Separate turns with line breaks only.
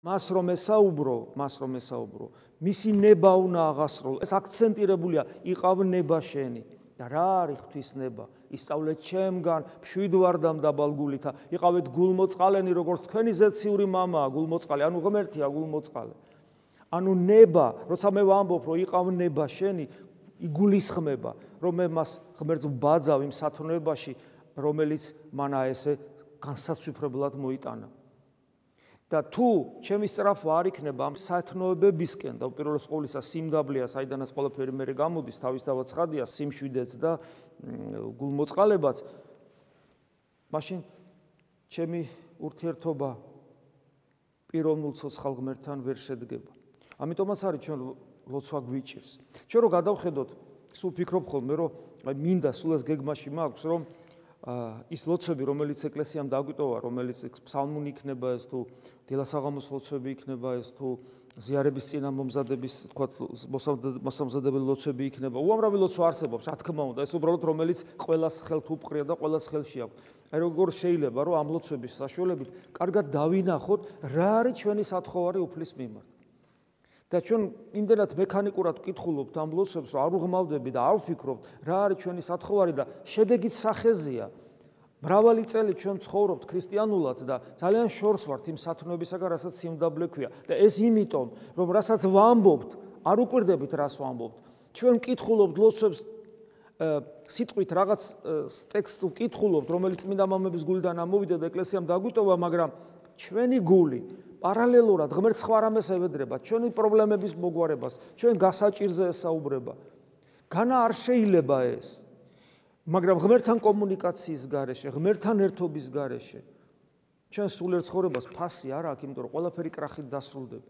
მას რომ ესაუბრო, მისი ნება უნდა აღასრულო. ეს აქცენტირებულია, იყავ ნება შენი. და რა არის ღვთისნება? ისწავლეთ ჩემგან, მშვიდ ვარ და მდაბალგულითა. იყავეთ გულმოწყალენი, როგორც თქვენი ზეციური მამაა გულმოწყალე, ანუ ღმერთია გულმოწყალე. ანუ ნება, როცა მე ვამბობ, რომ იყავ ნება შენი, იგულისხმება, რომ მე მას ღმერთს ვბაძავ იმ სათნოებაში, რომელიც მანა ესე განსაცვიფრებლად მოიტანა. და თუ ჩემი სწრაფვა არ იქნება ამ სათნოებებისკენ და უპირველეს ყოვლისა სიმდაბლეა, საიდანაც ყველაფერი მერე გამოდის, თავისთავად ცხადია, სიმშვიდეც და გულმოწყალებაც, მაშინ ჩემი ურთიერთობა პიროვნულ ცოცხალ ღმერთთან ვერ შედგება. ამიტომაც არის ჩვენ ლოცვა გვიჭირს. ჩვენ რო გადავხედოთ, სულ ფიქრობ ხოლმე, რომ მინდა სულ ეს გეგმაში მაქვს, რომ ის ლოცვები, რომელიც ეკლესიამ დაგვიტოვა, რომელიც ფსალმუნი იქნება ეს თუ დილასაღამოს ლოცვები იქნება ეს თუ ზიარების წინამომზადების, თქვათ, მოსამზადებელი ლოცვები იქნება. უამრავი ლოცვა არსებობს, რა თქმა უნდა, ეს უბრალოდ რომელიც ყველას ხელთ უპყრია და ყველას ხელში აქვს. აი როგორ შეიძლება, რომ ამ ლოცვების საშუალებით კარგად დავინახოთ, რა არის ჩვენი სათხოვარი უფლის მიმართ. და ჩვენ იმდენად მექანიკურად ვკითხულობთ ამ ლოცვებს, რომ არ უღმავდები და არ ვფიქრობთ, რა არის ჩვენი სათხოვარი და შედეგით სახეზეა. მრავალი წელი ჩვენ ცხოვრობთ ქრისტიანულად და ძალიან შორს ვართ იმ სათნოებისაგან, რასაც სიმდაბლე ქვია. და ეს იმიტომ, რომ რასაც ვამბობთ, არ უკვირდებით, რას ვამბობთ. ჩვენ ვკითხულობთ ლოცვებს სიტყვით რაღაც ტექსტს ვკითხულობთ, რომელიც წმინდა მამების გულიდან ამოვიდა და ეკლესიამ დაგვიტოვა, მაგრამ ჩვენი გული პარალელურად ღმერთს სხვა რამეს ევედრება, ჩვენი პრობლემების მოგვარებას, ჩვენ გასაჭირზე ესაუბრება. განა არ შეიძლება ეს. მაგრამ ღმერთთან კომუნიკაციის გარეშე, ღმერთთან ერთობის გარეშე, ჩვენ სულიერ ცხოვრებას ფასი არ აქვს, იმიტომ რომ ყველაფერი კრახით დასრულდება.